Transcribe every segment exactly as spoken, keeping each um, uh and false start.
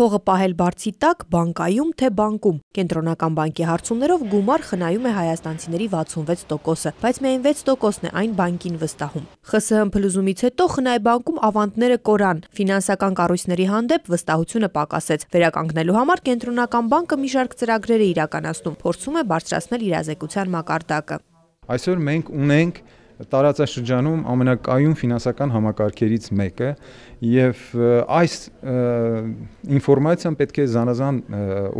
Փողը պահել բարձի տակ, բանկայում թե բանկում։ Կենտրոնական բանկի հարցումներով գումար խնայում է հայաստանցիների վաթսունվեց տոկոսը, բայց միայն վեց տոկոսն է այն բանկին վստահում։ ԽՍՀՄ փլուզումից հետո Խնայ բանկում ավանդները կորան, ֆինանսական կառույցների հանդեպ վստահությունը պակասեց։ Վերականգնելու համար Կենտրոնական բանկը մի շարք ծրագրեր է իրականացնում, փորձում է բարձրացնել իրազեկության մակարդակը։ Այսօր մենք ունենք տարածաշրջանում ամենակայուն ֆինանսական համակարգերից մեկը եւ այս ինֆորմացիան պետք է զանազան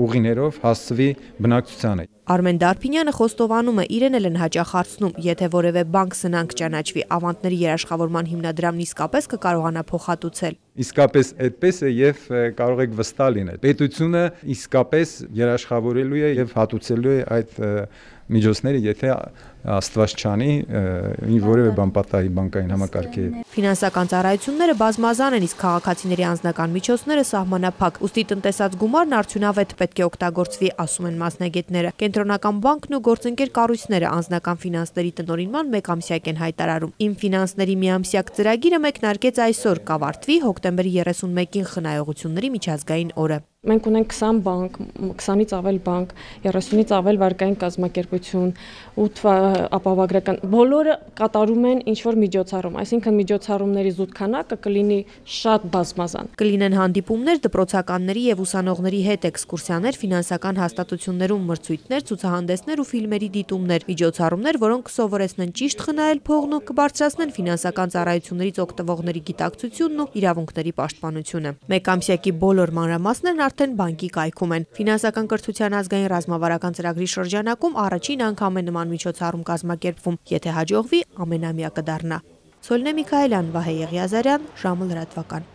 ուղիներով հասցվի բնակչությանը։ Արմեն Դարփինյանը խոստովանում է, իրեն էլ են հաճախ հարցնում, եթե որևէ բանկ սնանկ ճանաչվի, ավանդների երաշխավորման հիմնադրամն իսկապես կկարողանա փոխհատուցել։ Իսկապես այդպես է եւ կարող եք վստահ լինել։ Պետությունը իսկապես երաշխավորելու է եւ հատուցելու է այդ միջոցները, եթե Աստված չանի որևէ բան պատահի բանկային համակարգի հետ։ Ֆինանսական ծառայությունները բազմազան են, իսկ քաղաքացիների անձնական միջոցները սահմանափակ, ուստի տնտեսած գումարն արդյունավետ պետք է օգտագործվի, ասում են մասնագետները։ Կենտրոնական բանկն ու գործընկեր կառույցները անձնական ֆինանսների տնօրինման մեկամսյակ են հայտարարում։ Իմ ֆինանսների միամսյակ ծրագիրը մեկնարկեց այսօր, կավարտվի հոկտեմբերի երեսունմեկին խնայողությունների միջազգային օրը։ Մենք ունենք քսան բանկ, քսանից ավել բանկ, երեսունից ավել վարկային կազմակերպություն, ութ ապահովագրական, բոլորը կատարում են ինչ-որ միջոցառում, այսինքն միջոցառումների զուտ քանակը կլինի շատ բազմազան։ Կլինեն հանդիպումներ դպրոցականների եւ ուսանողների հետ, էքսկուրսիաներ ֆինանսական հաստատություններում, մրցույթներ, ցուցահանդեսներ ու ֆիլմերի դիտումներ, միջոցառումներ, որոնք կսովորեցնեն ճիշտ խնայել փողն ու կբարձրացնեն ֆինանսական ծառայություններից օգտվողների գիտակցությունն ու իրավունքների պաշտպանությունը։ Մեկամսյակի բոլոր մանրամասներն արդեն բանկի կայքում են։ Ֆինանսական կրթության ազգային ռազմավարական ծրագրի շրջանակում առաջին անգամ է նման միջոցառում կազմակերպվում, եթե հաջողվի ամենամյա կդառնա։ Սոլնե Միքայելյան, Վահե Եղիազարյան, ժամը լրատվական։